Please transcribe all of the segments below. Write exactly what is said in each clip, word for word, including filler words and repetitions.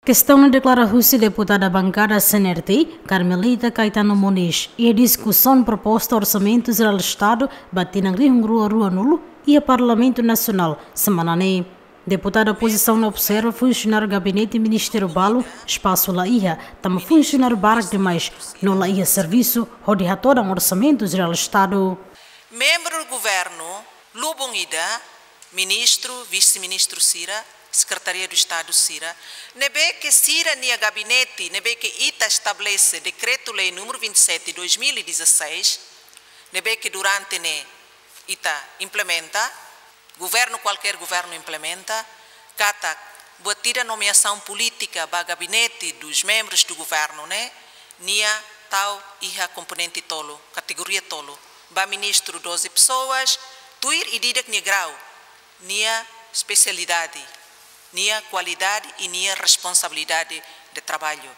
Kestaun ne'e deklara husi deputada bankada C N R T, Carmelita Caetano Moniz, iha diskusaun proposta Orsamentu Jerál Estadu ba tinan rihun rua ruanulu iha Parlamentu Nasionál semana ne'e. Deputada opozisaun observa funsionáriu gabinete ministériu balu espasu la iha, tanba funsionáriu barak demais no la iha servisu hodi hatodan Orsamentu Jerál Estadu. Membru governu lubun ida, ministru, vise-ministru sira, Sekretaria do Estadu sira, ne'ebé ke sira-nia gabinete, ne'ebé ke ita estabelese Dekretu-Lei número vinte e sete dois mil e dezasseis, ne'ebé ke durante ne'e ita implementa, governu, kualkér governu implementa, katak buat ida nomeasaun polítika ba gabinete dos membros do governo ne'e, nia tau iha komponente tolu, kategoria tolu. Ba ministru doze pessoas, tuir ida-idak nia grau, nia espesialidade, nia kualidade i nia responsabilidade de trabalho.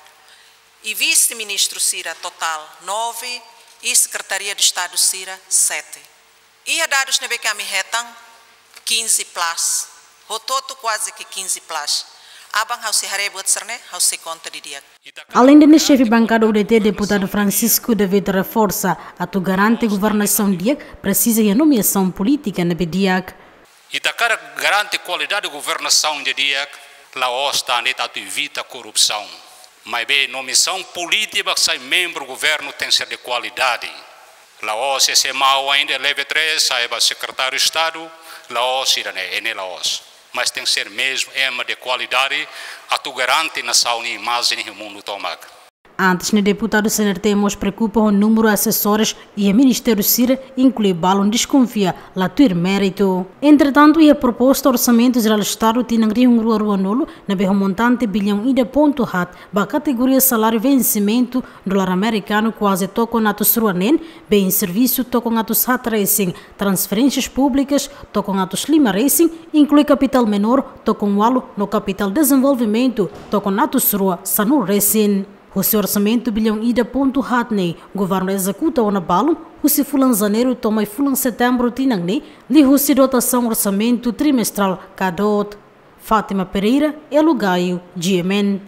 I vise-ministru sira totál nove, i Sekretaria do Estadu sira sete. Iha dadus ne'ebé ke ami hetan, quinze plus. Hotu-hotu kuaze ke quinze plus. Aban ha'u sei haree buat sira-ne'e, ha'u sei konta didi'ak. Aleinde ne'e, xefe bankada U D T, deputadu Francisco David reforsa, atu garante governasaun di'ak, presiza iha nomeasaun polítika ne'ebé di'ak. Ita hakarak garante kualidade governasaun di'ak, la'ós tan de'it atu evita korrupsaun. Maibé nomeasaun polítika ba sai membru governu tenke ser de kualidade. La'ós ese mau ainda level três, sai ba sekretáriu Estadu, la'ós ida-ne'e, ne'e la'ós. Mas tenke ser mezmu ema de kualidade, atu garante nasaun nia imajen iha mundu tomak. Antes ne'e, deputadu C N R T mós preokupa ho númeru asesores iha ministériu sira, inklui balun deskonfia la tuir méritu. Entretantu, iha proposta Orsamentu Jerál Estadu tinan rihun rua ruanulu, ne'ebé ho montante bilhão ida pontu haat, ba kategoria saláriu vensimentu dolar amerikanu kuaze tokon atus rua neen, bens servisu tokon atus haat resin, transferénsias públikas tokon atus lima resin, inklui kapitál menór tokon ualu no kapitál dezenvolvimentu tokon atus rua sanulu resin. Husi orsamentu bilhão ida pontu haat ne'e, governu ezekuta ona balun husi fulan Janeiru to'o mai fulan Setembru tinan ne'e, liuhusi dotasaun orsamentu trimestrál ka DOT. Fátima Pereira, Elo Gaio, G M N.